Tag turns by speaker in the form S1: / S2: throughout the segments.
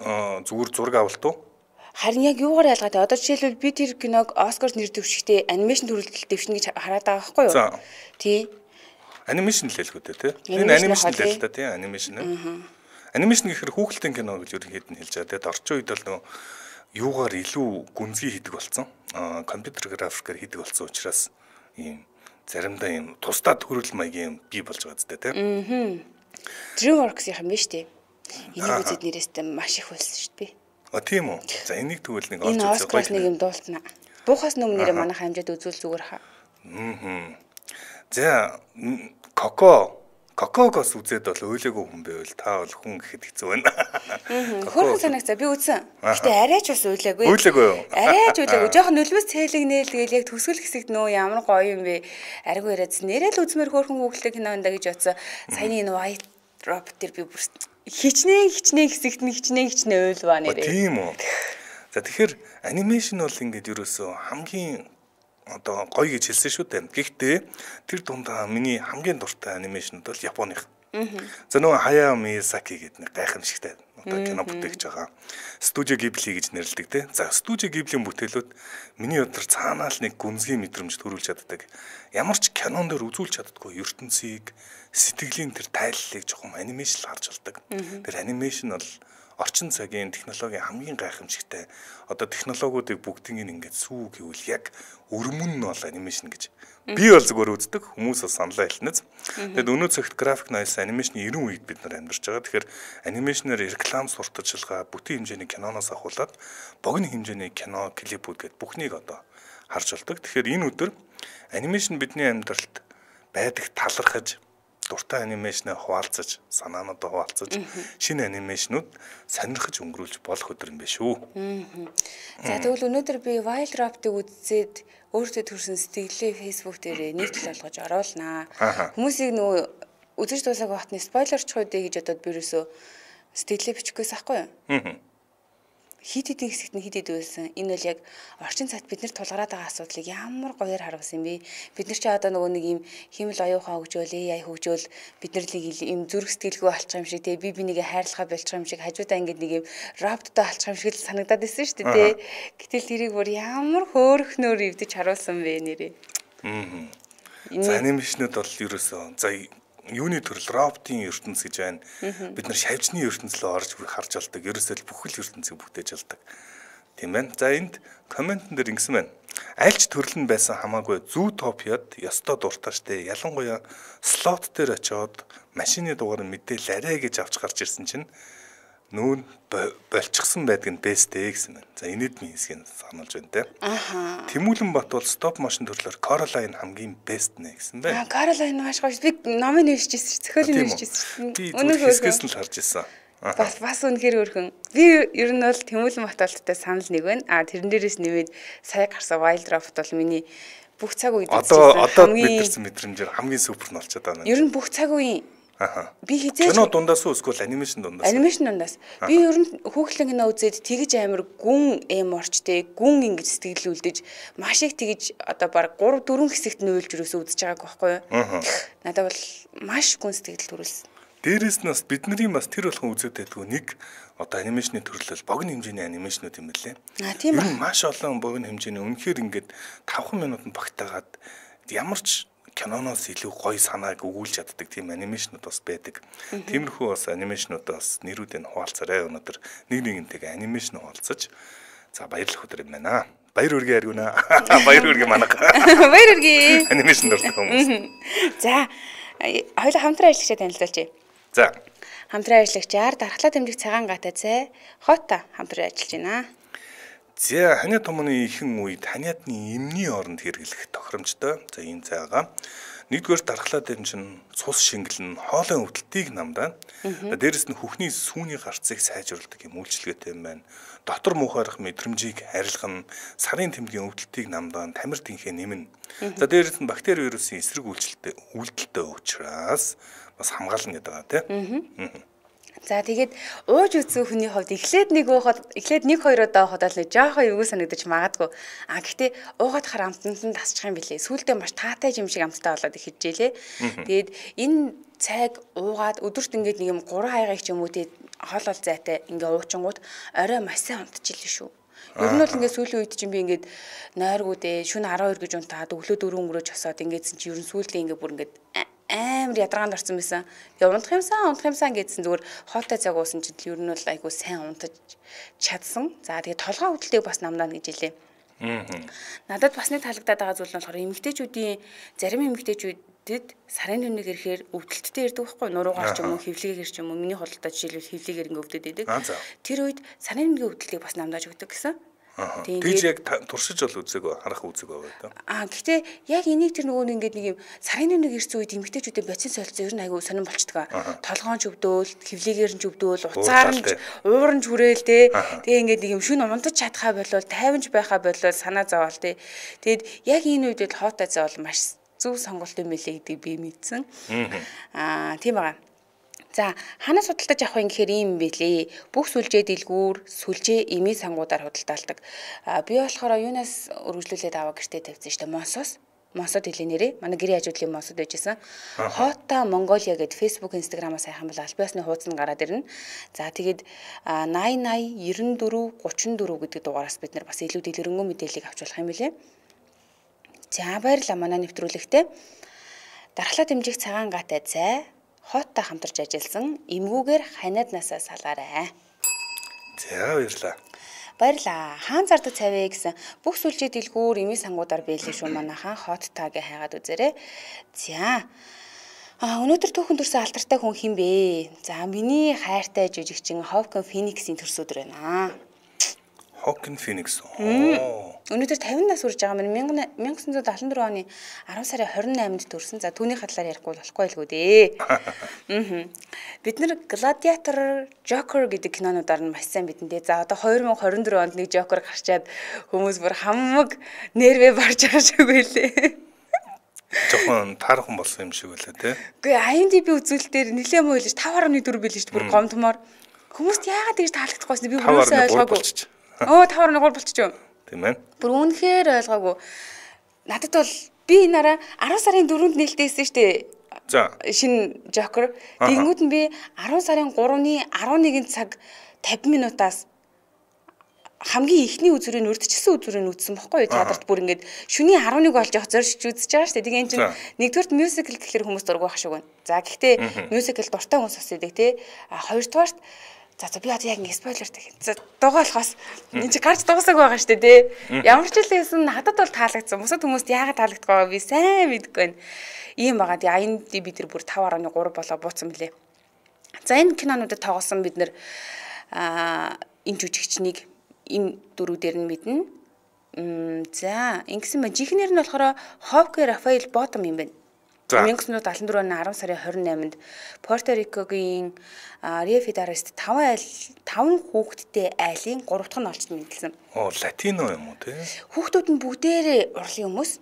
S1: зүгээр зураг авалт уу?
S2: Харин яг юугаар ялгаад одоо жишээлбэл би тэр киног Оскар нэр дэвшигтэй анимашн төрөлтөд дэвшнэ гэж хараад байгаа байхгүй юу?
S1: За.
S2: Тий.
S1: Анимашн л хэлэх үү те. Энэ анимашн л л та тий анимашн. Анимашн гэхээр хүүхэлдэйн кино гэж ерөнхийд нь хэлж байгаа. Тэгээд орчин үед бол нөө юугаар илүү гүнзгий хийдэг болсон. Компьютер графикээр хийдэг болсон учраас ийм заримдаа ийм тусдаа төрөл маягийн бий болж байгаа зү те.
S2: DreamWorks-ийн юм биш үү? Энийг үзээд нэрээсээ маш их болсон шүү дээ.
S1: Тийм үү. За энийг тэгвэл нэг олж
S2: үзэх гоё. Нэг юм дуултна. Буухаас өмнө нэрээ манайх хамжаад үзүүл зүгээр хаа.
S1: За Кокогоос үзээд бол өөлөөгөө хүн байвал та бол хүн гэхэд хэцүү байна.
S2: Хөөрхөн санагцаа би үзсэн. Гэтэ арайч бас өөлөөгүй.
S1: Өөлөөгүй юу?
S2: Арайч өөлөөгүй. Жохон нөлөөс цээлэгнээл тэгэл яг төсгөл хэсэгт нөө ямар гоё юм бэ? Арайгүй яриадсан. Нэрэл үзмэр хөөрхөн хүүхэлтэй кино энэ гэж бодсон. Саяны энэ White Drop дээр би бүр хичнээн хэсэгт нь хичнээн өөл ба нэрээ.
S1: Тийм үү. За тэгэхээр анимашн бол ингээд ерөөсөө хамгийн одоо гоё гэж хэлсэн шүү дээ. Гэхдээ тэр дундаа миний хамгийн дуртай анимашнууд бол Японых. За нөгөө Хаяо Миязаки гэдэг нэг гайхамшигтай одоо кино бүтээгч байгаа. Студио Гибли гэж нэрлэдэг те. За студио Гиблийн бүтээлүүд миний өдөр цаанаа л нэг гүнзгий мэдрэмж төрүүлж чаддаг. Ямар ч кинон дээр үзүүлж чаддаггүй ертөнцийг сэтгэлийн тэр тайллыг жоохон анимашн харж болдог. Тэр анимашн бол орчин цагийн технологийн хамгийн гайхамшигтай одоо технологиудыг бүгдийг ингээд сүү гэвэл яг өрмөн нь бол анимашн гэж. Би бол зүгээр үздэг хүмүүс бас саналаа хэлнэз. Тэгэд өнөө цагт график noise анимашны 90 үед бид нар амьдарч байгаа. Тэгэхээр анимашнаар реклам сурталчилгаа бүтэн хэмжээний киноноос ахуулаад богино хэмжээний кино клипүүд гэд бүхнийг одоо харж болдог. Тэгэхээр энэ өдөр анимашн бидний амьдралд байдаг талархаж дуртай анимашнаа хуваалцаж, санаануудаа хуваалцаж, шинэ анимашнууд сонирхож өнгөрүүлж болох өдөр юм байна шүү.
S2: За тэгвэл өнөөдөр би Wild Drop-ыг үзээд өөртөө төрсэн сэтгэлээ Facebook дээр нийтлэл болгож оруулнаа. Хүмүүсийг нөгөө үзэж дуусаагүй хотны спойлерч хойдээ гэж бодоод би ерөөсөө сэтгэлээ бичихгүйс ахгүй юу? Хит хитийн хэсэгт нь хит хит байсан. Энэ бол яг орчин цагт бид нар тулгараад байгаа асуудлыг ямар гоёор харуулсан бэ? Бид нар ч одоо нөгөө нэг юм химэл оюухаа хөгжөөл, AI хөгжөөл бид нар нэг юм зүрх сэтгэлгүй болчих юм шиг те би нэгэ хайрлахаа болчих юм шиг хажуудаа ингээд нэг юм роботтой болчих юм шиг л санагдаад байсан шүү дээ те. Гэтэл тэрийг бүр ямар хөөрхнөөр ивдэж харуулсан бэ нэрээ.
S1: За анимашнууд бол ерөөсөө за юуны төрөл роботын ертөнц гэж байна. Бид нар шавьжны ертөнц рүү орж харж болдог. Ерөөсөө бүхэл ертөнцийг бүтээж болдог. Тийм байна. За энд комментэн дээр ингэсэн байна. Аль ч төрөл нь байсан хамаагүй Zootopia-д ёстой дуртай штэ. Ялангуяа слот дээр очиод машины дугаар мэдээл арай гэж авч гарч ирсэн чинь нүүн болчихсон байдаг нь бэстэй гэсэн байна. За энэд минь хэсгийг сануулж байна те. Тэмүүлэн Бат бол стоп мошн төрлөөр Coraline хамгийн бест нэ гэсэн байна.
S2: Coraline маш гоё. Би номыг нэвшижсэн, зохиолыг нэвшижсэн.
S1: Өнөөдөр хэсгээс нь л харж ирсэн.
S2: Бас үнэхээр өөрхөн. Би ер нь бол Тэмүүлэн Бат болттой санал нэг байна. Тэрэн дээрээс нэмээд сая гарсан Wild Drop бол миний бүх цаг үед
S1: одоо мэдэрсэн мэдрэмжээр хамгийн супер нь болчиход байна.
S2: Ер нь бүх цаг үеийн би хизээж
S1: кино дундаас уу эсвэл анимашн дундаас?
S2: Анимашн дундаас. Би ер нь хүүхэлдэйн кино үзээд тэгж амар гүн эморчтэй, гүн ингэж сэтгэл үлдэж, маш их тэгж одоо баг 3 4 хэсэгт нөөлж юусоо үзэж байгааг байхгүй юу? Надад бол маш гүн сэтгэл төрүүлсэн.
S1: Дээрээс нь бас бидний бас тэр болгон үзээд байдгүй нэг одоо анимашны төрлөл богино хэмжээний анимашнууд юм билээ.
S2: Тийм ба.
S1: Маш олон богино хэмжээний үнэхээр ингээд 5 минутанд багтаагаад ямар ч киноноос илүү гоё санааг өгүүлж чаддаг тийм анимашнууд бас байдаг. Тиймэрхүү бас анимашнуудаа бас нэрүүдийг хуваалцаарай. Өнөөдөр нэг нэгнтэйгээ анимашн хуваалцаж за баярлах өдөр юм байна. Баяр хүргэе аргуна. Баяр хүргэе манайх.
S2: Баяр хүргэе.
S1: Анимашн дуртай хүмүүс.
S2: За хоёулаа хамтран ажиллагчаа танилцуулъя.
S1: За
S2: хамтран ажиллагчаар дархлаа дэмжих цагаан гатаа цай хотта хамтран ажиллаж байна.
S1: За ханиад томны ихэн үед ханиадны эмний оронд хэрэглэх тохиромжтой. За энэ цайгаа нэгдүгээр дархлаа дэмжин цус шингэлэн хоолой өвдөлтийг намдаа. Дээрэс нь хүүхний сүүний гарцыг сайжруулдаг юм үйлчлэгээтэй юм байна. Дотор муухайрах мэдрэмжийг арилгана, сарын тэмдгийн өвдөлтийг намдаа, тамир тэнхээ нэмнэ. За дээрэс нь бактери вирусын эсрэг үйлдэлтэй учраас бас хамгаална гэдэг байгаа тийм.
S2: За тэгээд ууж үзсэн хүний хувьд эхлээд нэг хоёр удаа уухад л жоохон юу санагдаж магадгүй. Гэхдээ уугаад хар амтанд нь тасчих юм билээ. Сүүлдээ маш таатай юм шиг амттай болоод ихжээлээ. Тэгээд энэ цайг уугаад өдөрт ингээд нэг юм 3 хаягийг ч юм уу тэгээд хоол зайтай ингээ уучингууд орой маш сайн унтчихлээ шүү. Ер нь бол ингээ сүүлийн үед чинь би ингээд нойргуудээ шөнө 12 гэж унтаад өглөө 4 өнгөрөөж хосоод ингээдсэн чи ер нь сүүлдээ ингээ бүр ингээд амар ядаргаанд орсон байсан. Тэгээ унтах юмсан гэдсэн зүгээр хоотой цаг уусан чинь ер нь бол айгуу сайн унтаж чадсан. За тэгээ толгой хөдөлтийг бас намдаа гэж хэлээ. Надад бас нэг таалагдаад байгаа зүйл нь болохоор эмэгтэйчүүдийн зарим эмэгтэйчүүдэд сарын түнэг ирэхээр өвдөлттэй ирдэг байхгүй нуруугаар ч юм уу хөвлөгээр ч юм уу миний худалдаа жишээлбэл хөвлөгээр ингээ өвдөд идэг. Тэр үед сарын түнгийн өвдөлтийг бас намдааж өгдөг гэсэн.
S1: Тийж яг туршиж бол үзег харах үзег байгаа даа.
S2: Гэхдээ яг энийг тэр нөгөө ингээд нэг юм сарын нэг ирсэн үед эмэгтэйчүүдийн боцин солилцоо ер нь айгүй сонирн болчдөг. Толгоон ч өвдөөл, хөвлөгээр нь ч өвдөөл, уцаар нь уурн ч хүрээл те. Тэгээ ингээд нэг юм шүн унтаж чадхаа болол, тайванч байхаа болол санаа зовоол те. Тэгэд яг энэ үед л хоотой цай бол маш зөв сонголт юм билээ гэдгийг би мэдсэн. Тийм байгаа. За ханаас худалдаж авах юм гэхээр ийм байлээ. Бүх сүлжээ дэлгүүр, сүлжээ эмээ сангуудаар худалдаалдаг. Би болохоор юунаас өргөжлүүлээд аваа гэртээ тавьсан шүү дээ. Монсод хэлээ нэрээ. Манай гэрийн хажуудлын монсод байжсэн. Хота Монголиа гэд Facebook, Instagram-аас хайхан бол аль биесны хуудас нь гараад ирнэ. За тэгээд 80 80 94 34 гэдэг дугаараас бид нар бас илүү дэлгэрэнгүй мэдээллийг авч болох юм билээ. За баярлалаа манай нэвтрүүлэгтээ. Дархлаа дэмжих цагаан гаатай цай Хоттой хамтарч ажилласан эмгүүгээр ханиаднасаа салаарай.
S1: За баярлаа.
S2: Баярлаа. Хаан зардаг цавэ гэсэн бүх сүлжээ дэлгүүр эмээ сангуудаар биелээ шүү манайхан Хоттайг хайгаад үзээрэй. За. Өнөөдөр түүхэн төрсөн алдартай хүн хин бэ? За миний хайртай жижигчин Hawken Phoenix-ийн төрс өдөр байна.
S1: Hawken Phoenix.
S2: Өнөөдөр 50 нас хүрж байгаа маань 1974 оны 10 сарын 28-нд төрсөн. За түүний хадлаар ярихгүй болохгүй л гоо дээ. Бид нар Gladiator, Joker гэдэг кинонуудаар нь маш сайн бидэндээ. За одоо 2024 онд нэг Joker гарчаад хүмүүс бүр хамаг нервээ барж байгаа шиг байлээ.
S1: Жохон таархан болсон юм шиг байлаа тий.
S2: Үгүй IMDb үзүүлэлтээр нэлээд муу хэлж 5.4 билээ шүү дээ. Бүр гомдмоор. Хүмүүст яагаад тэгж таалагдахгүй би бүрөөсөө ойлгоогүй. 5.3 болчихжээ.
S1: Тийм ээ.
S2: Бүр үнэхээр ойлгоогүй. Надад бол би энараа 10 сарын 4-нд нээлттэйсэн шүү дээ.
S1: За.
S2: Шинэ Joker. Тэгэнгүүт нь би 10 сарын 3-ны 11 цаг 50 минутаас хамгийн ихний үзүүрийг урдчилсан үзүүрийг үзсэн бохгүй юу? Театрт бүр ингээд шөнийн 11 болж явах зорж үзэж байгаа шүү дээ. Тэгээ энэ чинь нэгдүгээрт мюзикл гэхэлэр хүмүүс дургах шиг байна. За гэхдээ мюзикл дуртай хүмүүс бас идэг тий. Хоёрдугаарт за би одоо яг ингэ спойлер гэх. За дугаа болохоос энэ чи гарч дуусаагүй байгаа шүү дээ тий. Ямар ч хэлсэн надад бол таалагдсан. Бусад хүмүүст яагаад таалагдах байгаа би сайн мэдгүй байна. Ийм байгаа. Тэгээ IMDb бид бүр 5.3 болоо бууцсан мөлий. За энэ кинонуудад тоглосон бид нэр энэ жүжигчнийг энэ дөрүүдээр нь мэднэ. За ингэсэн ба жихнэр нь болохоор Ховке Рафаэл Ботом юм байна. 1974 оны 10 сарын 28-нд Порто Рикогийн Рио Федераст 5 хүүхэдтэй айлын 3 дахь нь олж мэдлсэн.
S1: Латино юм уу те?
S2: Хүүхдүүд нь бүгдээрээ урлын хүмүүс.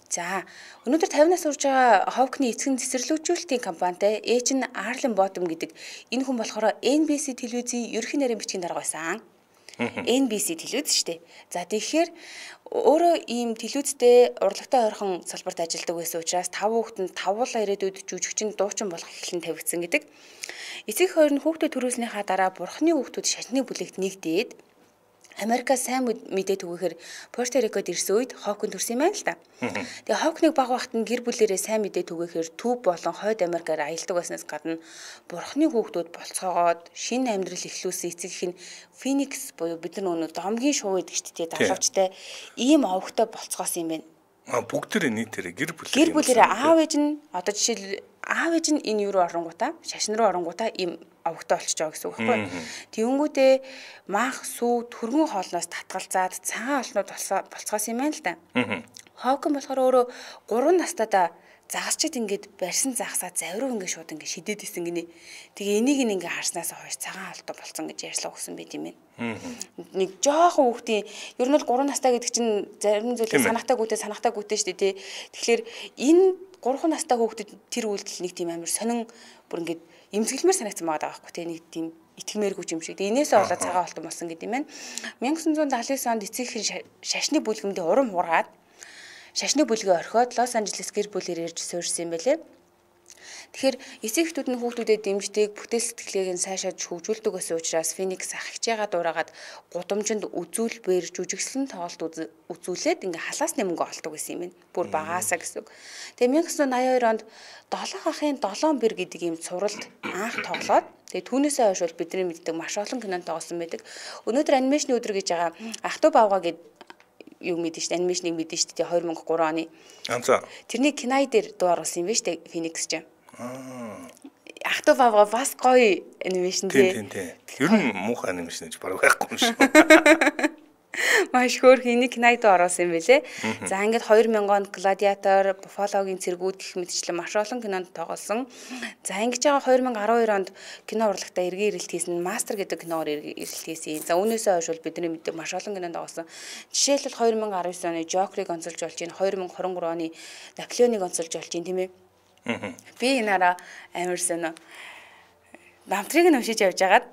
S2: За өнөөдөр 50 нас хүрж байгаа Ховкны эцэг цэцэрлэгжүүлэлтийн компанитай ээж нь Арлен Ботом гэдэг энэ хүн болохоор NBC телевизийн ерөнхий нарийн бичгийн дарга байсан. NBC телевиз шүү дээ. За тэгэхээр өөрөө ийм телевизтэй урлагтай ойрхон салбарт ажилладаг байсан учраас 5 хүүхэнд 5 ирээдүйд жүжигчин дуучин болох эхлэн тавигдсан гэдэг. Эцэг хоёр нь хүүхдээ төрүүлснийхаа дараа бурхны хүүхдүүд шашны бүлэгт нэгдээд Америкаас сайн мэдээ түгээхээр Порто Рикод ирсэн үед Ховкин төрсөн юм байна л да. Тэгээ Ховкныг баг багт нь гэр бүлээрээ сайн мэдээ түгээхээр төв болон хойд Америкаар аялдаг байснаас гадна бурхны хүүхдүүд болцоогоод шинэ амьдрал эхлүүлсэн эцэг их нь Phoenix буюу бид нар өнөө домгийн шуу гэдэг чтэй давхавчтай ийм овогтой болцоогоос юм байна.
S1: Бүгдээрээ нийтээрээ гэр
S2: бүлээрээ аав ээж нь одоо жишээл аав ээж нь энэ юу руу оронгуудаа шашин руу оронгуудаа ийм овогтой болчихж байгаа гэсэн үг байхгүй. Тэнгүүтээ мах сүү төргөн хоолноос татгалзаад цагаан олнууд болцоос юм байна л да. Ховкин болохоор өөрөө 3 настайдаа загасчид ингээд барьсан загсаа завруу ингээд шууд ингээд шидэд исэн гинэ. Тэгээ энийг ингээд харснаас хойш цагаан олтой болцсон гэж ярьслаа өгсөн байт юм байна. Нэг жоохон хүүхдийн ер нь бол 3 настай гэдэг чинь зарим зүйлээ санахтай гүтээ шүү дээ тий. Тэгэхээр энэ 3 настай хүүхдэд тэр үйлдэл нэг тийм амар сонин бүр ингээд эмзэглэмээр санагдсан байгаа байхгүй тий. Нэг тийм итгэмээргүй юм шиг. Энээсээ болоод цагаан олтон болсон гэдэг юм байна. 1979 онд эцэг их шашны бүлгэмдээ урам хуургаад шашны бүлгээ орхиод Лос Анжелес гэр бүлээр ирж суурьсан юм байлээ. Тэгэхээр эцэг эхтүүд нь хүүхдүүдэд дэмждэг, бүтээл сэтгэлгээг нь сайшааж хөгжүүлдэг гэсэн учраас Phoenix ах хичээгээ дураагаад гудамжинд үзүүлбэр жүжигслэн тоглолт үзүүлээд ингээ халаасны мөнгө олдог гэсэн юм байна. Бүр багаасаа гэсэн үг. Тэгээ 1982 онд 7 ахын 7 бэр гэдэг ийм цувралд анх тоглоод тэгээ түүнээсээ хойш бол бидний мэддэг маш олон кинонд тоглосон байдаг. Өнөөдөр анимашны өдөр гэж байгаа Ах トゥ бавга гэдэг юу мэдэн шүү дээ. Анимашныг мэдэн шүү дээ 2003 оны. Тэрний кино дээр дуу оруулсан юм байна шүү дээ Phoenix ч. Ах トゥ бавга бас гоё анимашн
S1: тийм. Ер нь муухай анимашн гэж баг байхгүй юм шиг.
S2: Маш хөөрхөн кинод оруулсан юм байлээ. За ингээд 2000 онд Гладиатор, Буффалогийн цэргүүд гэх мэтчлэн маш олон кинонд тоглосон. За ингэж байгаа 2012 онд кино урлагтаа эргэн ирэлт хийсэн Master гэдэг киноор ирэлт хийсэн. За үүнээсээ хойш бол бидний мэддэг маш олон кинонд тоглосон. Жишээлбэл 2019 оны Joker-ыг онцолж болж байна. 2023 оны Наполеоныг онцолж болж байна тийм ээ. Би энараа амар сонио намтрыг нь уншиж явж агаад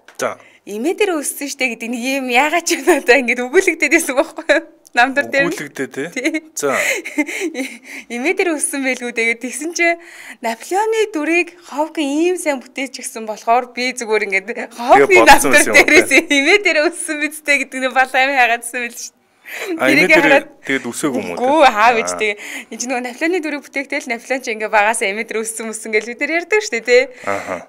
S2: имээ дээр өссөн штэ гэдэг нэг юм яагаад ч надаа ингэж өгүүлэгдээд байсан байхгүй юу? Намдар дээр
S1: өгүүлэгдээ тий. За.
S2: Имээ дээр өссөн байлгүй тэгээд тэгсэн чи Наполеоны дүрийг Ховкин ийм сайн бүтээж гисэн болохоор би зүгээр ингэж Ховкины намдар дээрээс имээ дээр өссөн бидтэй гэдэг нь бал амин хайгаадсан байл штэ.
S1: Тэгээд үсээгүй юм уу?
S2: Гүү хаа бич тэгээ. Энд чинь нөгөө Наполеоны дүрийг бүтээхтэл Наполеон ч ингээ багасаа эмэдэр өссөн гэж бид нар ярьдаг шүү дээ тий.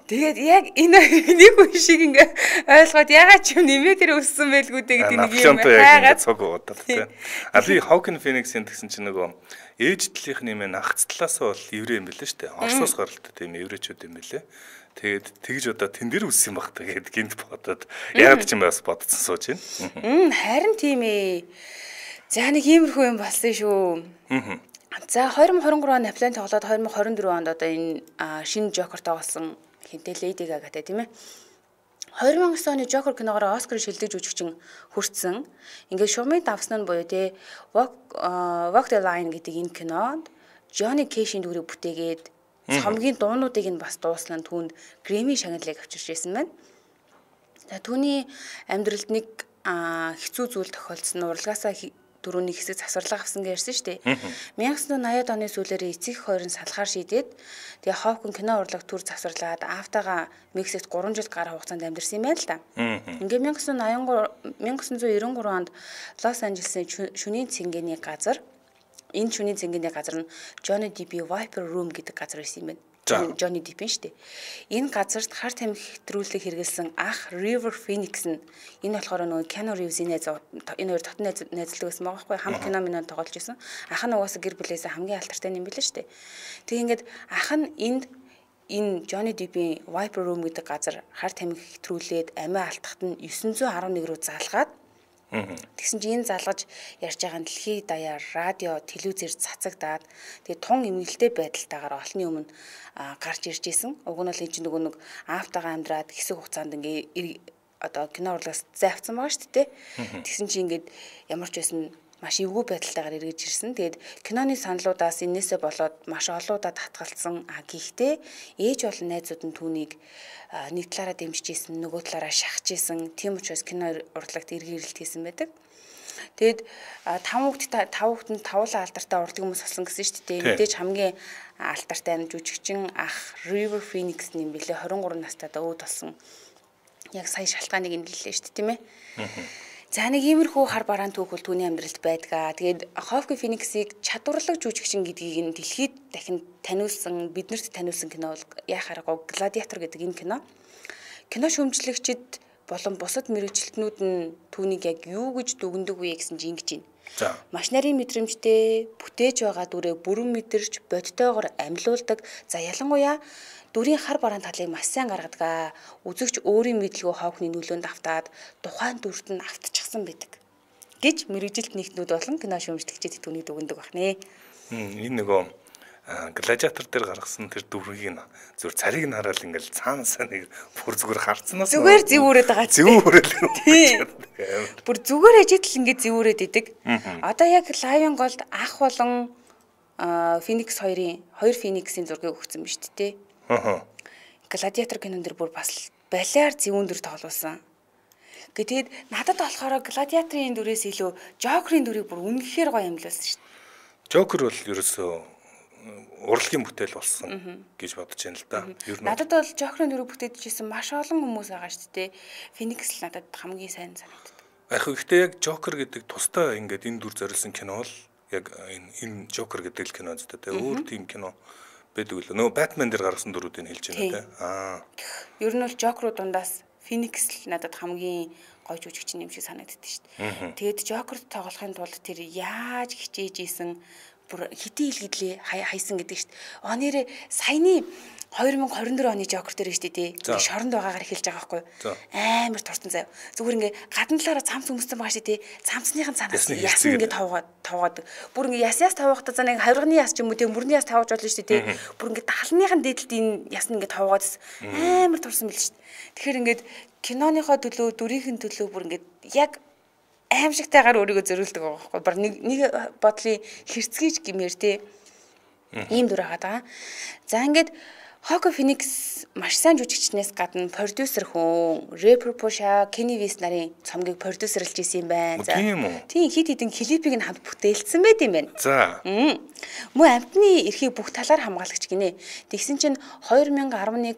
S2: Тэгээд яг энэ нэг үе шиг ингээ ойлгоод ягаад ч юм эмэдэр өссөн байлгүй дээ гэдэг нэг юм хайгаад
S1: цог удаа тий. А би Hawking Phoenix-ийн гэсэн чинь нөгөө ээж талынхны юм ах талаас бол еврей юм билээ шүү дээ. Оросоос гаралтай тийм еврейчүүд юм билээ. Тэгээд тэгж одоо тэн дээр үссэн баг тэгээд гинт бодоод яг ч юм бас бодсон сууж байна.
S2: Харин тийм ээ. За нэг иймэрхүү юм болсон шүү. За 2023 он Наполеон тоглоод 2024 онд одоо энэ шинэ Joker тоглосон хинтээ Lady Gaga-тай тийм ээ. 2009 оны Joker киногоор Оскар шилдэг жүжигчин хүртсэн. Ингээд шугамыг давсан нь буюу те Walk the Line гэдэг энэ кинонд Johnny Cash-ийн дүрийг бүтээгээд хамгийн дуунуудыг нь бас дууслан түүнд Grammy шагналыг авчирч байсан байна. За түүний амьдралд нэг хэцүү зүйл тохиолдсон урлагаасаа дөрөвний хэсэг завсарлага авсан гэсэн шүү дээ. 1980-ад оны сүүлээр эцэг хоёр нь салахаар шийдээд тэгээ Hawking кино урлаг төр завсарлаад Афтагаа Мексикт 3 жил гар хугацаанд амьдэрсэн юм байна л да. Ингээ 1993 онд Лос Анжелесийн шөнийн цэнгэний газар энэ шөнийн цэнгэний газар нь Johnny Depp Viper Room гэдэг газар байсан юм байна. Johnny Depp шүү дээ. Энэ газарт хар тамхи хэтрүүлэг хэрэгэлсэн ах River Phoenix нь энэ болохоор нөгөө Keanu Reeves-ийн энэ хоёр дотн найзлдаг байсан байгаа байхгүй хамт кино минь тоглож байсан. Ах нь угаасаа гэр бүлээсээ хамгийн алтартай юм билээ шүү дээ. Тэг ингээд ах нь энэ Johnny Depp-ийн Viper Room гэдэг газар хар тамхи хэтрүүлээд амиа алдахад нь 911 рүү залгаад тэгсэн чинь энэ залгаж ярьж байгаа нь дэлхий даяар радио, телевизээр цацагдаад тэгээ тун эмгэлтэй байдалтайгаар олонний өмнө гарч ирж исэн. Уг нь бол энэ чинь нөгөө нэг Афтагаа амьдраад хэсэг хугацаанд ингээ одоо кино урлагаас зайвцсан байгаа шүү дээ. Тэгсэн чинь ингээд ямар ч байсан маш эвгүй байдалтайгаар эргэж ирсэн. Тэгээд киноны саналуудаас энээсээ болоод маш олоодаа татгалцсан. Гэхдээ ээж болон найзууд нь түүнийг нэг талаараа дэмжиж исэн, нөгөө талаараа шахаж исэн. Тийм учраас кино урлагт эргэн ирэлт хийсэн байдаг. Тэгэд 5 хүүхэд нь тавуулаа алдартай урлагийн хүмүүс болсон гэсэн шүү дээ. Мэдээж хамгийн алдартай жүжигчин ах River Phoenix юм билээ 23 настай өөд болсон. Яг сая шалтгааныг нэлээ шүү дээ, тийм ээ. За нэг иймэрхүү хар бараан түүхэл түүний амьдралд байдгаа. Тэгээд Hawking Phoenix-ийг чадварлаг жүжигчин гэдгийг нь дэлхийд дахин таниулсан, биднэрт таниулсан кино бол яхаарахгүй Gladiator гэдэг энэ кино. Кино шүүмжлэгчид болон бусад мэрэгчлэтнүүд нь түүнийг яг юу гэж дүгндэг вэ гэсэн чинь ингэж байна.
S1: За.
S2: Маш нарийн мэдрэмжтэй бүтээж байгаа дүрээ бүрэн мэдэрч бодтойгоор амьлуулдаг. За ялангуяа дүрийн хар бараан талыг маш сайн гаргадаг. Үзэгч өөрийн мэдлэгөө Hawking-ийн нөлөөнд автаад тухайн дүрт нь автчихсан байдаг гэж мэрэгжилт нэгтнүүд болон кино шүүмжлэгчид түүнийг дүгндэг байна.
S1: Энэ нөгөө Gladiator дээр гаргасан тэр дүрийг нь зөв царийг нь хараад ингээл цаанасаа нэг бүр зүгээр харцнаас
S2: зүгээр зэвүүрээд байгаа.
S1: Зэвүүрэл.
S2: Бүр зүгээр ажитл ингээд зэвүүрээд идэг. Одоо яг Lion Gold ах болон Phoenix хоёр Phoenix-ийн зургийг өгсөн биз дээ. Gladiator кинон дэр бүр бас балиар зэвүүн дүр тоглуулсан. Тэгээд надад болохоор Gladiator-ийн дүрээс илүү Joker-ийн дүрийг бүр үнэхээр гоё амьлуулсан шүү дээ.
S1: Joker бол ерөөсөө урлагийн бүтээл болсон гэж бодож байна л да. Ер нь
S2: надад бол Жокерын дөрөв бүтээжсэн маш олон хүмүүс байгаа шүү дээ. Феникс л надад хамгийн сайн санагдав.
S1: Яг гэхдээ яг Жокер гэдэг тусдаа ингээд энэ дүр зориулсан кино бол яг энэ Жокер гэдэг л кино зү тэ. Өөр тийм кино байдаг л. Нөгөө Batman дээр гаргасан дүрүүдийг хэлж байна тэ.
S2: Ер нь бол Жокерууд дундаас Феникс л надад хамгийн гоё жүжигчин юм шиг санагддаг шүү дээ. Тэгээд Жокерт тоглохын тулд тэр яаж хичээж исэн бүр хэдий илгэдлээ хайсан гэдэг шүү дээ. Нэрээ саяны 2024 оны Жокер дээр шүү дээ. Шоронд байгаагаар хэлж байгаа байхгүй. Амар туртан заяа. Зүгээр ингээ гадна талаараа цамц өмссөн байгаа шүү дээ. Цамцныхын цанаас ясан ингээ тавгаад. Бүр ингээ яс тавахтаа за нэг хавирганы яс ч юм уу тийм мөрний яс тавж болно шүү дээ. Бүр ингээ талныхын дээдлд энэ яс нь ингээ тавгаад амар турсан мэл шүү дээ. Тэгэхээр ингээд киноныхоо төлөө дүрийнхэн төлөө бүр ингээ яг аимшигтайгаар өөрийгөө зөрүүлдэг байгаа байхгүй. Бар нэг бодлын хэрцгийж гэмээр те ийм дүр байгаа. За ингээд Хоако Феникс маш сайн жүжигчнээс гадна продюсер хүн Рэпер Пуша, Кенни Вест нарын цомгийг продюсерлж исэн юм байна.
S1: За.
S2: Тийм хит хитэн клипийг нь хамт бүтээлсэн байт юм байна.
S1: За.
S2: Мөн амтны эрхийг бүх талаар хамгаалагч гинэ. Тэгсэн чинь 2011-2020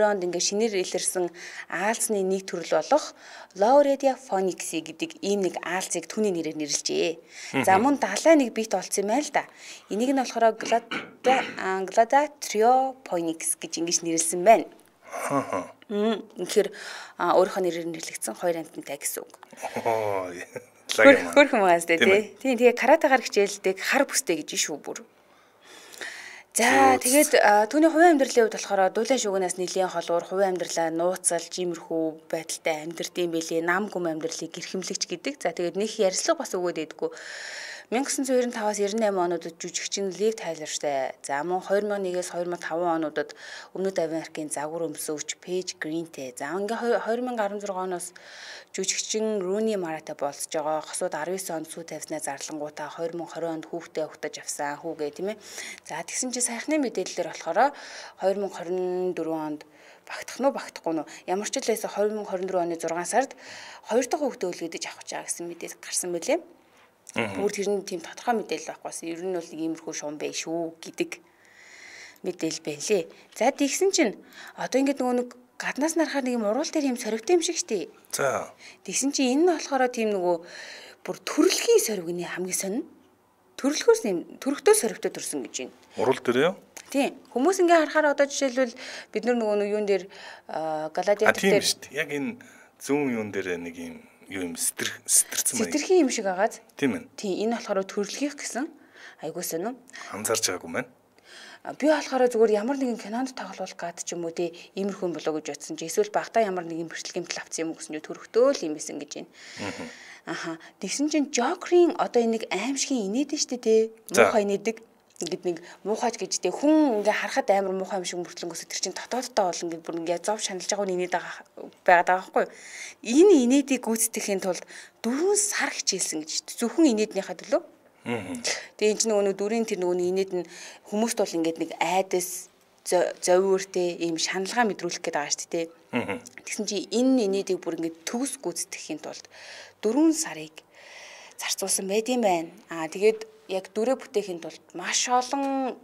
S2: онд ингээ шинээр илэрсэн аалзны нэг төрөл болох Lauredia Phoenix гэдэг ийм нэг аалзыг түүний нэрээр нэрлэжээ. За мөн далай нэг бит олцсон юм байна л да. Энийг нь болохоор Glada Trio Phoenix гэж ингэж нэрлсэн байна. Тэгэхээр өөрийнхөө нэрээр нэрлэгдсэн хоёр амттай гэсэн үг. Хөрхөн маас дээ тий. Тэгээ каратегаар хичээлдэг хар бүстэй гэж шүү бүр. За тэгээд түүний хувийн амьдралын хувьд болохоор дуулын шугнаас нэлийн холуур хувийн амьдралаа нууцалж иймэрхүү байдалтай амьдрдсан байлээ. Нам гүм амьдралыг гэрхэмлэгч гэдэг. За тэгээд нэг ярьслага бас өгөөд байдгүй. 1995-аас 98 онуудад жүжигчин Лив Тайлертай. За мөн 2001-ээс 2005 онуудад Өмнөд Америкийн загвар өмсөвч Пейж Гринтэй. За ингээ 2016 оноос жүжигчин Руни Маратай болцож байгаа. Хосууд 19 онд сүү тавьснаа зарлангуудаа 2020 онд хүүхдээ ухтаж авсан хүүгээ тийм ээ. За тэгсэн чинь саяхны мэдээлэлээр болохоор 2024 онд багтах нь багтахгүй нь ямар ч л байсан 2024 оны 6 сард 2 дахь хүүхдээ үлгээдэж авах гэж байгаа гэсэн мэдээлэл гарсан байлээ. Бүр тэр нь тийм тодорхой мэдээлэл байхгүй. Ер нь бол иймэрхүү шуум бай шүү гэдэг мэдээлэл байлээ. За тэгсэн чинь одоо ингээд нөгөө нэг гаднаас нарахаар нэг юм уруул дээр юм сорвтой юм шиг штий.
S1: За.
S2: Тэгсэн чинь энэ нь болохоор тийм нөгөө бүр төрөлхийн сорвигны хамгийн сонин. Төрөлхөөс юм төрөлтөө сорвтой төрсөн гэж байна.
S1: Уруул дээр юу?
S2: Тийм. Хүмүүс ингээ харахаар одоо жишээлбэл бид нөгөө юун дээр Галадиатор дээр
S1: яг энэ зүүн юун дээр нэг юм юу юм сэтэрсэн байна.
S2: Сэтэрхийн юм шиг агаад.
S1: Тийм ээ.
S2: Тийм энэ болохоор төрөлхийнх гэсэн айгуу сонин.
S1: Анзаарч байгаагүй маань.
S2: Би болохоор зүгээр ямар нэгэн кинонд тоглуулах гад ч юм уу тий иймэрхүү болоо гэж бодсон чи эсвэл багтаа ямар нэгэн бэрхшээлгэмтэл авсан юм гэсэн чи төрөхтөө л юм исэн гэж байна. Аха. Тэгсэн чинь Жокерийн одоо энэ нэг аимшигын инээдэн штэ тий муухай инээдэг. Ингээд нэг муухайч гэж тий хүн ингээ харахад амар муухай юм шиг мөртлөнгөөс тэр чинь дотооддоо бол ингээд бүр ингээ зов шаналж байгаа инээд байгаа байхгүй. Энэ инээдийг гүйцэтгэхийн тулд 4 сар хичээлсэн гэж зөвхөн инээднийхаа төлөө. Тэгээ энэ ч нөгөө дүрийн тэр нөгөө инээд нь хүмүүст бол ингээд нэг айдас зовиортэй ийм шаналгаа мэдрүүлэх гээд байгаа шүү дээ. Тэгсэн чи энэ инээдийг бүр ингээд төгс гүйцэтгэхийн тулд 4 сарыг зарцуулсан байт юм байна. Тэгээд яг дүрээ бүтээхийн тулд маш олон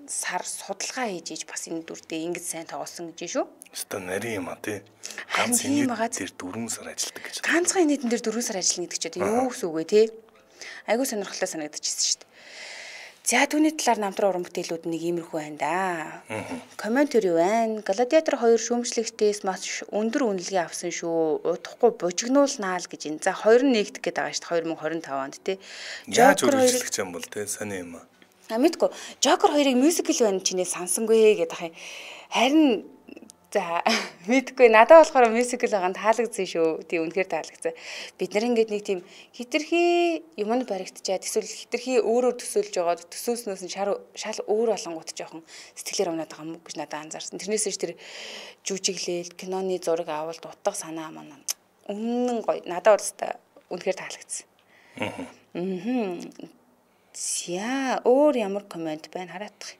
S2: сар судалгаа хийж бас энэ дүрдээ ингэж сайн тоглосон гэж шүү.
S1: Өстой нарийн юм а тий. Ганц инээд дээр 4 сар ажилладаг гэж.
S2: Ганцхан инээдэн дээр 4 сар ажиллана гэдэг чинь юу гэсэн үг вэ тий? Айгуу сонирхолтой санагдчихсэн шүү дээ. За түүний талаар намтран уран бүтээлүүд нэг иймэрхүү байна да. Комментари байна. Гладиатор 2 шүүмжлэгтээс маш өндөр үнэлгээ авсан шүү. Удахгүй бужигнуулнаа л гэж энэ. За 2 нэгдэх гээд байгаа шүү дээ 2025 онд тий.
S1: Яаж үргэлжлэх юм бол тий сони юм а.
S2: Мэдгүй. Жокер 2-ыг мюзикл байна чинээ сансангүй гэдэг. Харин за мэдгүй надад болохоор мюзикл байгаа нь таалагдсан шүү. Тий үнэхээр таалагдсан. Бид нар ингээд нэг тийм хитрхи юмд баригдчаад эсвэл хитрхи өөрөөр төсөөлж байгаа төсөөснөөс нь шал өөр болонгууд жоохон сэтгэлээр унаад байгаа юм гэж надад анзаарсан. Тэрнээсээ ч тэр жүжиглэл, киноны зураг авалт, утга санаа маань үнэн гоё. Надад бол үнэхээр таалагдсан. За өөр ямар комент байна хараадах.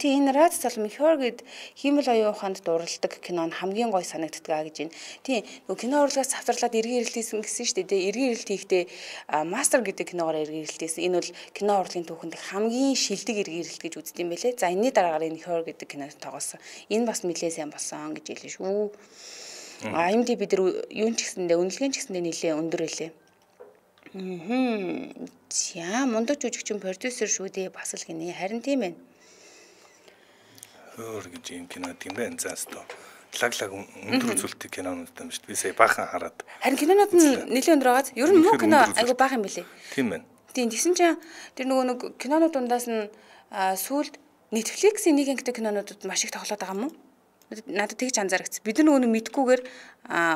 S2: Тийм энэ Rad Salman Her гэд хиймэл оюун ухаанд дурладаг кино нь хамгийн гоё санагддаг гэж байна. Тийм нөгөө кино урлагаас завсарлаад эргэн ирэлтийсэн гэсэн шүү дээ. Эргэн ирэлт хийхдээ Master гэдэг киногоор эргэн ирэлтийсэн. Энэ бол кино урлагийн түүхэнд хамгийн шилдэг эргэн ирэлт гэж үздэг юм байлээ. За энэний дараагаар энэ Her гэдэг кинод тоглосон. Энэ бас нэлээд сайн болсон гэж хэлсэн шүү. IMDb дээр юун ч гэсэндээ үнэлгээний ч гэсэндээ нэлээд өндөр байлээ. За мундаг жүжигчин продюсер шүү дээ бас л гинэ. Харин тийм ээ.
S1: Өөр гэж юм кино тийм байна. Заастаа лаг өндөр үзүүлэлтийн кинонууд юм шүү дээ. Би сая баахан хараад.
S2: Харин кинонууд нь нэлээд өндөр байгааз. Ер нь муу кино айгу баахан юм билээ.
S1: Тийм байна.
S2: Тийм тэгсэн чинь тэр нөгөө нэг кинонууд дундаас нь сүүлд Netflix-ийн нэг ангитай кинонуудад маш их тоглоод байгаа юм уу? Надад тэгж анзаарчихсан. Бид нар нөгөө мэдхгүйгээр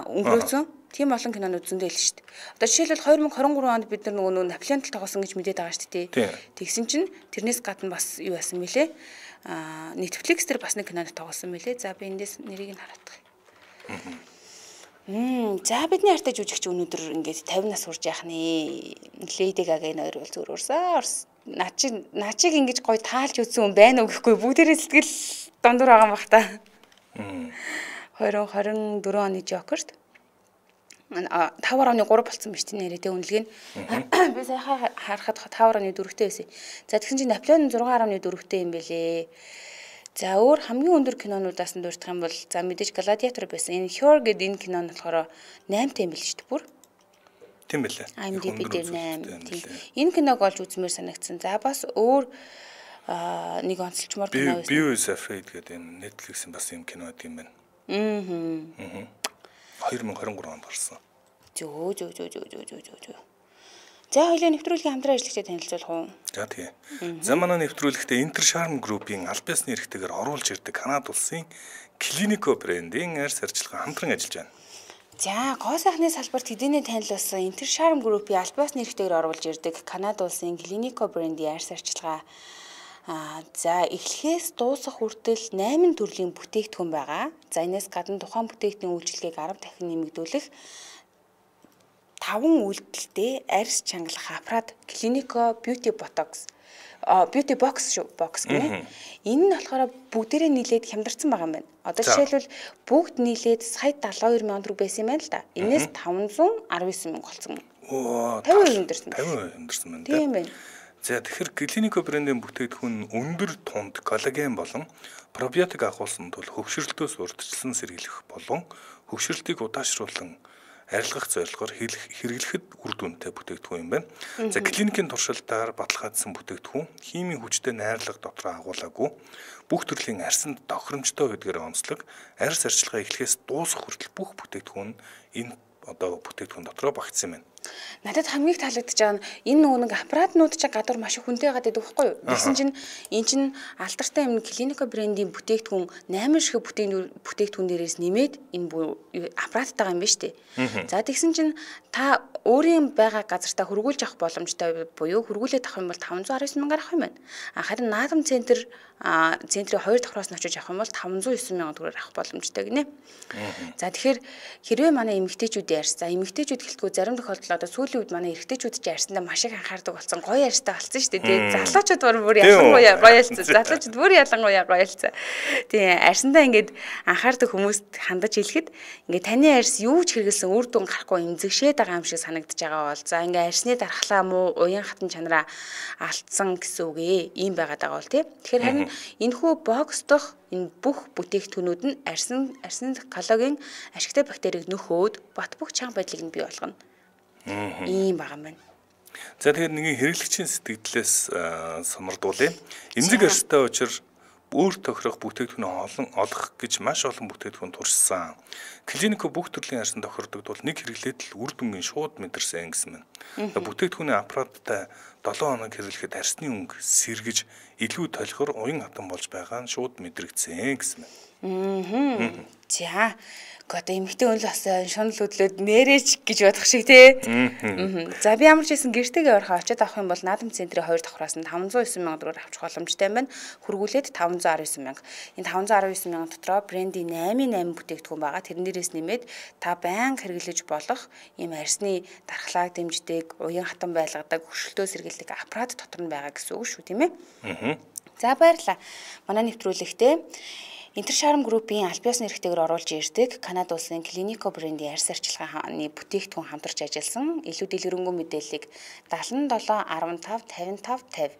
S2: өнгөрөөсөн. Тийм олон кинонууд зөндөө л шүү дээ. Одоо жишээлбэл 2023 онд бид нар нөгөө Наполеонтал тоглосон гэж мэдээд байгаа шүү дээ. Тэгсэн чинь тэрнээс гадна бас юу байсан мөлий? Netflix дээр бас нэг кинонд тоглосон мөлий. За би эндээс нэрийг нь хараадах. За бидний артай жүжигч өнөөдөр ингээд 50 нас хүрч яах нэ. Lady Gaga энэ хоёр бол зүгээр урсаа. Начиг ингэж гоё таалж үзсэн хүн байна уу гэхгүй бүгдээрээ сэтгэл дондор байгаа юм бах та. 2024 оны Joker-т 5.3 болсон биз дээ нэрээ үнэлгээ нь. Би сайхан харахад 5.4-тэй байсан. За тэгсэн чинь Наполеон 6.4-тэй юм бэлээ. За өөр хамгийн өндөр кинонуудаас нь дурдах юм бол за мэдээж Gladiator байсан. Энэ Her гэдэг энэ кино нь болохоор 8-тай юм бэл шүү дээ бүр.
S1: Тийм бэлээ.
S2: IMDb дээр 8. Тийм. Энэ киног олж үзмээр санагдсан. За бас өөр нэг онцлчмоор кино байсан.
S1: Beau is Afraid гэдэг энэ Netflix-ийн бас юм кино тийм байна. 2023 онд гарсан.
S2: Зөө. За хоёлаа нэвтрүүлгийн хамтран ажиллагчид танилцуулах уу?
S1: За тийм. За манай нэвтрүүлэгтээ Intercharm Group-ийн аль биесны эрхтэйгээр оруулж ирдэг Канада улсын Clinico брендийн арьс арчилгаа хамтран ажиллаж байна.
S2: За гоо сайхны салбарт хэдийнэ танилцуулсан Intercharm Group-ийн аль биесны эрхтэйгээр оруулж ирдэг Канада улсын Clinico брендийн арьс арчилгаа за эхлэхээс дуусах хүртэл 8 төрлийн бүтээгдэхүүн байгаа. За энэс гадна тухайн бүтээгдэхүүний үйлчилгээг 10 дахин нэмэгдүүлэх 5 үйлдэлтэй арьс чангалах аппарат Clinico Beauty Box гэнэ. Энэ нь болохоор бүгдээрээ нийлээд хямдарсан байгаа юм байна. Одоо жишээлбэл бүгд нийлээд сая 72,000 төгрөг байсан юм байна л да. Энэс 519,000 болсон. 50% хямдарсан.
S1: 50% хямдарсан байна.
S2: Тийм байна.
S1: За тэгэхээр Clinico брендийн бүтээгдэхүүн өндөр тунд коллаген болон пробиотик агуулсан тул хөвгшрөлтөөс урьдчилан сэргийлэх болон хөвгшрөлтийг удаашруулан арилгах зорилгоор хэрэглэхэд үр дүнтэй бүтээгдэхүүн юм байна. За клиникийн туршилтаар баталгаажсан бүтээгдэхүүн химийн хүчтэй найрлага дотроо агуулаагүй бүх төрлийн арьсанд тохиромжтой гэдгээр онцлог арьс арчилгаа эхлэхээс дуусах хүртэл бүх бүтээгдэхүүн энэ одоо бүтээгдэхүүн дотроо багтсан юм байна.
S2: Надад хамгийн их таалагдж байгаа нь энэ нэг аппаратнууд чинь гадуур маш их хүнтэй гадаг байхгүй юу? Тэгсэн чинь эн чинь алдартай юм Clinico брендийн бүтээгдэхүүн 8 шиг бүтээгдэхүүн дээрээс нэмээд энэ аппараттайгаа юм ба штэ. За тэгсэн чинь та өөрийн байгаа газартаа хөргүүлж авах боломжтой буюу хөргүүлээд авах юм бол 519,000 авах юм байна. Харин наадам центрийн 2 давхраас нь очиж авах юм бол 509,000 төгрөгөөр авах боломжтой гинэ. За тэгэхээр хэрвээ манай эмэгтэйчүүдийн арьс за эмэгтэйчүүд гэлтгүү зарим тохиолдолд одоо сүүлийн үед манай эрэгтэйчүүд ч арьсандаа маш их анхаардаг болсон гоё арьстай болсон шүү дээ. Тэгээ залуучууд бүр ялангуяа гоё ялцсан. Залуучууд бүр ялангуяа гоё ялцсан. Тэгээ арьсандаа ингээд анхаардаг хүмүүст хандаж хэлэхэд ингээд таны арьс юу ч хэрэгэлсэн үр дүн гарахгүй эмзэгшээд байгаа юм шиг санагдаж байгаа бол за ингээд арьсны дархлаа муу уян хатан чанараа алдсан гэсэн үг ээ. Ийм байгаад байгаа бол тий. Тэгэхээр харин энэхүү бокс дох энэ бүх бүтээгдэхүүнүүд нь арьсны коллаген ашигтай бактерийг нөхөөд бат бөх чанга байдлыг нь бий болгоно. Ийм байгаа юм байна.
S1: За тэгэхээр нэгэн хэрэглэгчийн сэтгэлдээс сумардуулъя. Эмзэг арьстай учраас өөр тохирох бүтээгдэхүүн олох гэж маш олон бүтээгдэхүүн туршсан. Clinico бүх төрлийн арьсан тохирдог бол нэг хэрэглээд л үр дүнгийн шууд мэдэрсэн гэсэн байна. Бүтээгдэхүүний аппараттай 7 хоног хэрэглэхэд арьсны өнгө сэргэж илүү толихор уян хатан болж байгаа нь шууд мэдрэгдсэн гэсэн байна.
S2: За Одоо эмэгтэй хүн л бас шунал хөдлөөд нэрэж гэж бодох шиг тий. За би ямар ч хэлсэн гэртэйгээ орохоо очиод авах юм бол наадам центрийн 2 давхраас нь 509 сая төгрөгөөр авчих боломжтой юм байна. Хөргүүлээд 519 сая. Энэ 519 сая дотроо брендийн 8 бүтээгдэхүүн байгаа. Тэрнээрээс нэмээд та байнга хэрэглэж болох ийм арсны дархлааг дэмждэг, уян хатан байлгадаг, хөшөлтөө сэргийлдэг аппарат дотор нь байгаа гэсэн үг шүү, тийм ээ. За баярлалаа. Манай нэвтрүүлэгтээ Интершарм группийн аль биесны эрхтэйгээр оруулж ирдэг Канада улсын Клинико брендийн арьс арчилгааны бүтээгдэхүүн хамтарч ажилласан илүү дэлгэрэнгүй мэдээллийг 77 15 55 50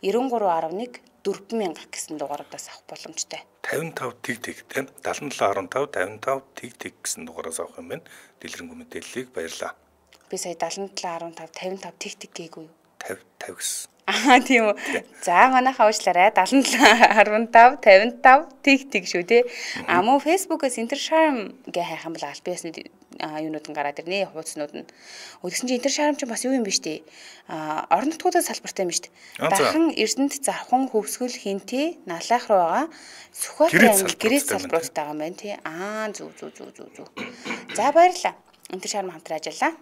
S2: 9311 4000 гэсэн дугаараас авах боломжтой.
S1: 55 тэг тийм 77 15 55 тэг гэсэн дугаараас авах юм байна. Дэлгэрэнгүй мэдээллийг баярлаа.
S2: Би сая 77 15 55 тэг гээгүй юу?
S1: 50 гэсэн.
S2: Тийм үү. За манайхаа уучлаарай. 77 15 55 тэг шүү тий. Мөн Facebook-оос Интершарм гэ хайх юм бол аль биесны юунууд нь гараад ирнэ. Хуудснууд нь. Тэгсэн чинь Интершарм ч бас юу юм биш тий. Орон нутгуудаас салбартай юм биш тий. Дахин Эрдэнэт Завхан Хөвсгөл Хинти Налайх руу байгаа Сүхбаатар аймаг гэрээс салбаруудтай байгаа юм байна тий. Зүг. За баярлалаа. Интершарм хамтран ажиллаа.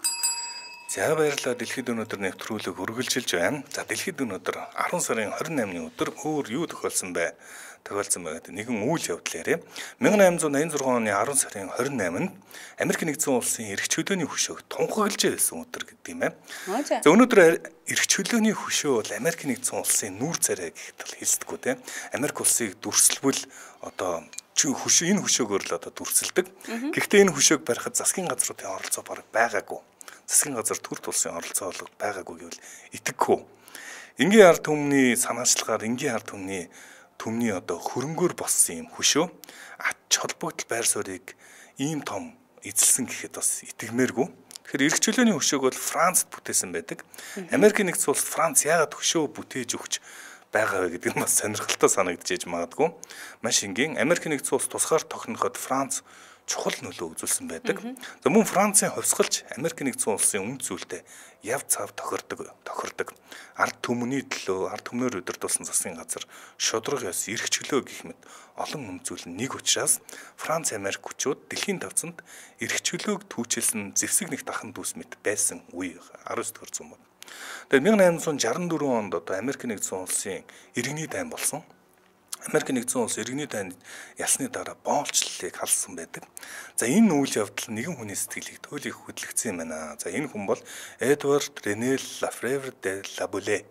S1: За баярлалаа. Дэлхийд өнөөдөр нэвтрүүлэг үргэлжилж байна. За дэлхийд өнөөдөр 10 сарын 28-ны өдөр өөр юу тохиолдсон бэ? Тохиолдсон байгаад нэгэн үйл явдал яриа. 1886 оны 10 сарын 28-нд Америк нэгдсэн улсын эрх чөлөөний хөшөөг тунхаглаж байсан өдөр гэдэг юм байна. За өнөөдөр эрх чөлөөний хөшөө бол Америк нэгдсэн улсын нүүр царай гэхтэл хэлсдэггүй тийм. Америк улсыг дүрслэвэл одоо энэ хөшөөгөөр л одоо дүрсэлдэг. Гэхдээ энэ хөшөөг барихад засгийн газруудын оролцоо бараг байгаагүй. Засгийн газар төр тулсын оролцоо олго байгаагүй гэвэл итгэхгүй. Энгийн ард түмний санаачлагаар энгийн ард түмний одоо хөрөнгөөр болсон юм хөшөө ач холбогдол байр суурийг ийм том эзэлсэн гэхэд бас итгэмээргүй. Тэгэхээр эрх чөлөөний хөшөөг бол Францд бүтээсэн байдаг. Америкийн нэгдсэн улс Франц яагаад хөшөө бүтээж өгч байгаа вэ гэдэг нь бас сонирхолтой санагдчихэж магадгүй. Маш энгийн Америкийн нэгдсэн улс тусгаар тохиноход Франц чухал нөлөө үзүүлсэн байдаг. За мөн Францын хувьсгалч Америк нэгдсэн улсын үнд зүйлтэй яв цав тохирдог. Ард түмний төлөө ард түмнөр удирдуулсан засгийн газар шудраг ёс эрх чөлөө гэх мэт олон үнд зүйл нэг учраас Франц Америк хүчүүд дэлхийн тавцанд эрх чөлөөг түүчилсэн зэвсэг нэг дахин дүүс мэт байсан үе 19-р зуун байна. Тэгээд 1864 онд одоо Америк нэгдсэн улсын иргэний дайн болсон. Америк нэгдсэн улс иргэний дайнд ялсны дараа боолчлалыг халсан байдаг. За энэ үйл явдал нэгэн хүний сэтгэлийг туйлын хөдөлгцсэн юм байна. За энэ хүн бол Эдвард Рене Лафревр де Лабуле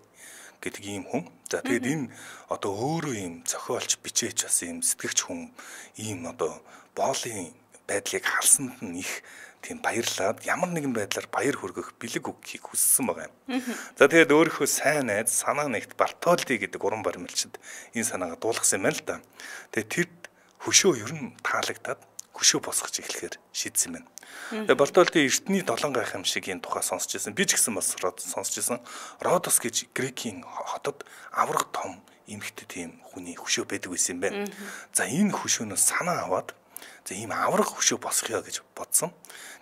S1: гэдэг ийм хүн. За тэгээд энэ одоо өөрөө ийм зохиолч бичээч бас ийм сэтгэгч хүн ийм одоо боолын байдлыг халсанд нь их тийм баярлаад ямар нэгэн байдлаар баяр хүргэх бэлэг өгөхийг хүссэн байгаа юм. За тэгээд өөрийнхөө сайн найз санаа нэгт Бартолди гэдэг уран баримлчид энэ санаагаа дуулгасан юм байна л да. Тэгээд тэр хөшөө ер нь таалагдаад хөшөө босгож эхлэхээр шийдсэн байна. Тэгээд Бартолди эртний 7 гайхам шиг энэ тухай сонсч байсан. Би ч гэсэн бас сонсч байсан. Родос гэж Грекийн хотод авраг том эмэгтэй тийм хүний хөшөө байдаг байсан юм байна. За энэ хөшөөнөөс санаа аваад за ийм авраг хөшөө босгоё гэж бодсон.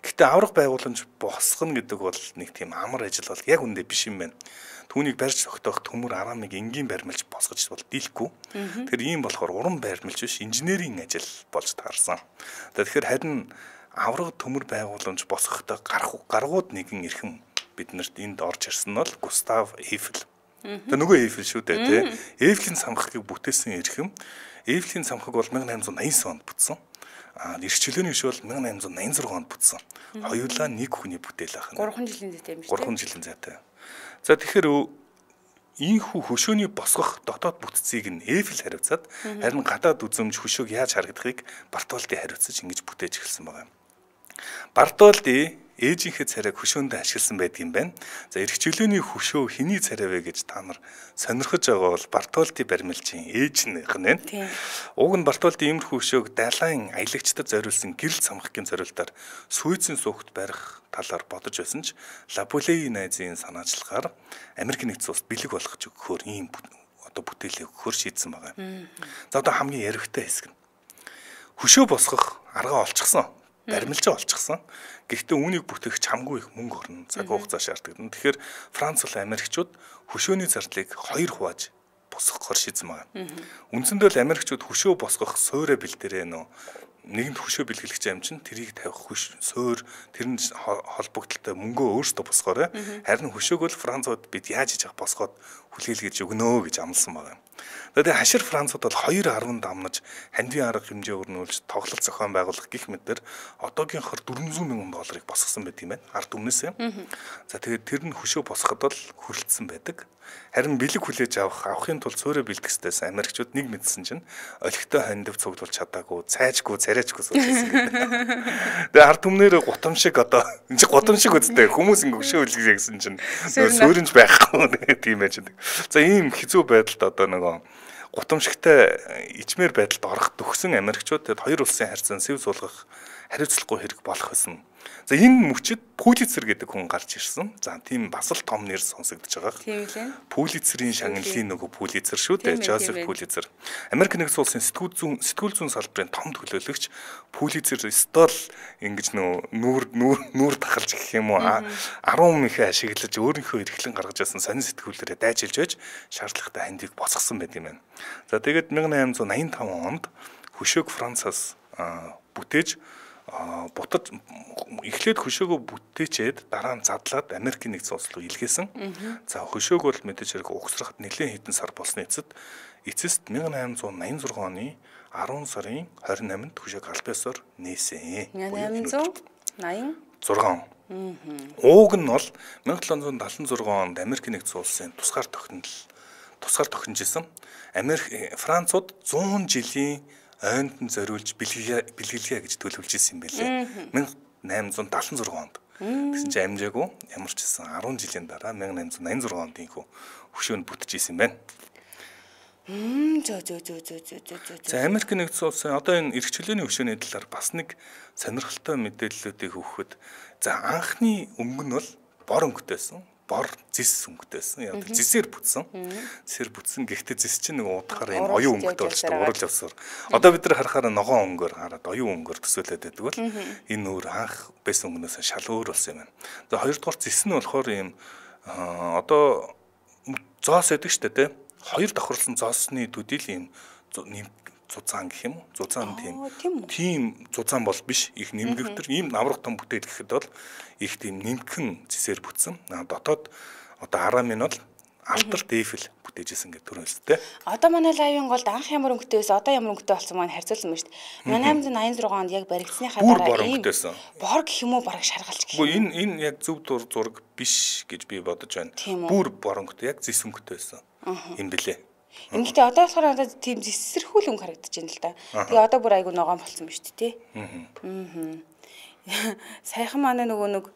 S1: Гэхдээ авраг байгууламж босгоно гэдэг бол нэг тийм амар ажил бол яг үндэ биш юм байна. Түүнийг барьж тогтоох төмөр арамыг энгийн баримлж босгож бол дийлэхгүй. Тэгэхээр ийм болохоор уран баримлж биш инженерийн ажил болж таарсан. Тэгэхээр харин авраг төмөр байгууламж босгохдоо гаргууд нэгэн эрхэм биднэрт энд орж ирсэн нь бол Густав Эйфел. Тэгээ нөгөө Эйфел шүү дээ тий. Эйфелийн самхагийг бүтээсэн эрхэм. Эйфелийн самхаг бол 1889 онд бүтсэн. Эрх чөлөөний хөшөө бол 1886 онд бүтсэн. Хоёулаа нэг хүний бүтээл ах нь.
S2: 3 жилийн зайтай юм шүү.
S1: 3 жилийн зайтай. За тэгэхээр ийхүү хөшөөний босгох дотоод бүтцийг нь Эйфел хариуцаад харин гадаад үзэмж хөшөөг яаж харагдахыг Бартолди хариуцаж ингэж бүтээж эхэлсэн байгаа юм. Бартолди ээжийнхээ царайг хөшөөндөө ашигласан байдгийн байна. За эрх чөлөөний хөшөө хэний царай вэ гэж та нар сонирхож байгаа бол Бартолди баримлжийн ээжнийх нь байна. Уг нь Бартолди иймэрхүү хөшөөг далайн аялагчдад зориулсан гэрэл самхагийн зориултаар Сүйзийн суугт барих талаар бодож байсан ч Лабулеийн найзын санаачлагаар Америк нэгдсэн улс бэлэг болгож өгөхөөр ийм одоо бүтээлээ өгөхөөр шийдсэн байгаа юм. За одоо хамгийн яригтай хэсэг нь хөшөө босгох арга олчихсон. Баримлжаа олчихсан. Гэхдээ үүнийг бүтээх чамгүй их мөнгө орно. Цаг хугацаа шаарддаг. Тэгэхээр Франц болон Америкчууд хөшөөний зардлыг 2 хувааж босгохоор шийдсэн байна. Үндсэндээ л Америкчууд хөшөө босгох суурэ бэлдэрээ нэгэнт хөшөө бэлгэлэгч аим чинь тэрийг тавих суур тэр нь холбогдлолтой мөнгөө өөртөө босгоорой. Харин хөшөөг бол Францууд бид яаж хийж авах босгоод хүлээлгэж өгнө гэж амласан байна. Тэгээд хашир Францууд бол 2.10 дамнаж хандивын арга хэмжээ өрнүүлж тоглолт зохион байгуулах гэх мэтэр одоогийнхоор $400,000 босгосон байдаг юм байна. Ард өмнөөсөө. За тэгээд тэр нь хөшөө босгоход бол хүрэлцсэн байдаг. Харин бэлэг хүлээж авахын тулд суурэ бэлтгэстээс Америкчууд нэг мэдсэн чинь олигтой хандив цуглуулж чадаагүй, цайжгүй, царайжгүй суулжсэн гэдэг. Тэгээ ард түмнэр гутамшиг одоо энэ чи гутамшиг үстэй хүмүүс ингэ хөшөө үлгэж гэсэн чинь сууринж байхгүй тийм байж байгаа. За ийм хэцүү байдалд одоо нөгөө гутамшигтай ичмэр байдалд орох төгсөн Америкчууд тэгэд хоёр улсын харьцаан сэв суулгах хариуцлагагүй хэрэг болох байсан. За энэ мөчид Пулицер гэдэг хүн гарч ирсэн. За тийм бас л том нэр сонсогдож байгаа.
S2: Тийм лээ.
S1: Пулицерийн шагналын нөгөө Пулицер шүү дээ. Жозеф Пулицер. Америк нэгдсэн улсын сэтгүүл зүйн салбарын том төлөөлөгч Пулицер стол ингэж нүүр тахалж гэх юм уу 10 михэ ашиглаж өөрийнхөө эрхлэн гаргаж байсан сонин сэтгүүлээрээ дайжилж байж шаардлагатай хандийг босгосон байт юм байна. За тэгээд 1885 онд хөшөөг Францаас бүтээж бутаж эхлээд хөшөөгөө бүтээчээд дараа нь задлаад Америкийн нэгдсэн улс руу илгээсэн. За хөшөөг бол мэдээж хэрэг угсрахад нэлээд хэдэн сар болсны эцэст 1886 оны 10 сарын 28-нд хөшөөг албаасаар нээсэн.
S2: 1886.
S1: Ууг нь бол 1776 онд Америкийн нэгдсэн улсын тусгаар тохинжсэн. Францууд 100 жилийн ойнд нь зориулж бэлгэлье гэж төлөвлөж ирсэн юм байлээ. 1876 онд. Тэгсэн чинь амжаагүй ямар ч гэсэн 10 жилийн дараа 1886 онд инхүү хөшөөнд бүтчихсэн юм байна. За Америк нэгдсэн улсын одоо энэ эрх чөлөөний хөшөөний талаар бас нэг сонирхолтой мэдээллүүдийг өгөхөд за анхны өнгө нь бол бор өнгөтэйсэн. Бор зис өнгөтэйсэн. Яг зисээр бүтсэн. Зисээр бүтсэн. Гэхдээ зис чинь нэг удахаар энэ оюун өнгөтэй болчихдог. Урал явсаар. Одоо бид нар харахаар ногоон өнгөөр хараад оюун өнгөөр төсөөлөд байдаг бол энэ өөр анх байсан өнгнөөс шал өөр болсон юм байна. За хоёрдугаар зис нь болохоор ийм одоо зоос байдаг шүү дээ, тэ. Хоёр давхарлсан зоосны төдийл ийм зузаан гэх юм уу? Зузаан тийм зузаан бол биш. Их нэмгэвтер ийм наврах том бүтээл гэхэд бол их тийм нэмгхэн зисээр бүтсэн. Дотоод одоо арамын бол алтар дээфэл бүтээжсэн гэдэг төрөн өстэй.
S2: Одоо манай лайвын голд анх ямар өнгөтэй байсан, одоо ямар өнгөтэй болсон маань харьцуулсан байна шүү дээ. 1886 онд яг баригдсныхаа дараа ийм бор гэх юм уу бараг шаргалж гэх юм.
S1: Энэ яг зөв зураг биш гэж би бодож байна. Бүр бор өнгөтэй яг зис өнгөтэй байсан. Юм бэлээ.
S2: Ингэхдээ одоо болохоор одоо тийм зэсэрхүүл өнгө харагдаж байна л да. Тэгээ одоо бүр айгу ногоон болсон ба шүү дээ, тий. Саяхан манай нөгөө нэг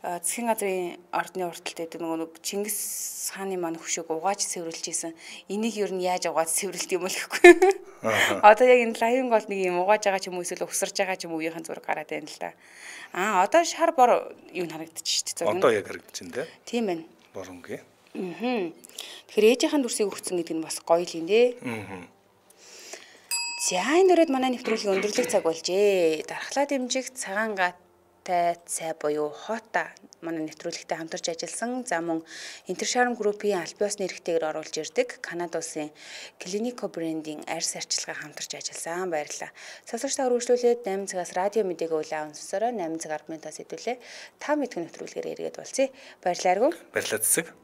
S2: засгийн газрын ордны урталт гэдэг нөгөө Чингис хааны маань хөшөөг угааж цэвэрлж исэн. Энийг юу нь яаж угааж цэвэрлдэг юм бол гэхгүй. Одоо яг энэ лайвын гол нэг юм угааж байгаа ч юм уу эсвэл угсарж байгаа ч юм уу үеийнхэн зураг гараад байна л да. Одоо шар бор юу нь харагдаж шүү дээ.
S1: Одоо яг харагдаж байна, тий.
S2: Тийм байна.
S1: Бор өнгө.
S2: Тэгэхээр ээжийнхэн дүрсийг өгсөн гэдэг нь бас гоё л юм дээ. За энэ дөрөд манай нэвтрүүлгийн өндөрлөг цаг болжээ. Дархлаа дэмжих цагаан гатай цай буюу хота манай нэвтрүүлэгтээ хамтарч ажилласан. За мөн Интершарм группийн альбиос нэрхтэйгээр оруулж ирдэг Канада улсын Клинико брендийн арьс арчилгаа хамтарч ажилласан. Баярлалаа. Сонсогч та үргэлжлүүлээд 8 цагаас радио мэдээг улаан сонсороо 8 цаг 10 минутаас хэдүүлээ 5 мэдхэн нэвтрүүлгээр эргээд болцъя. Баярлалаа.
S1: Баярлалаа цэцэг.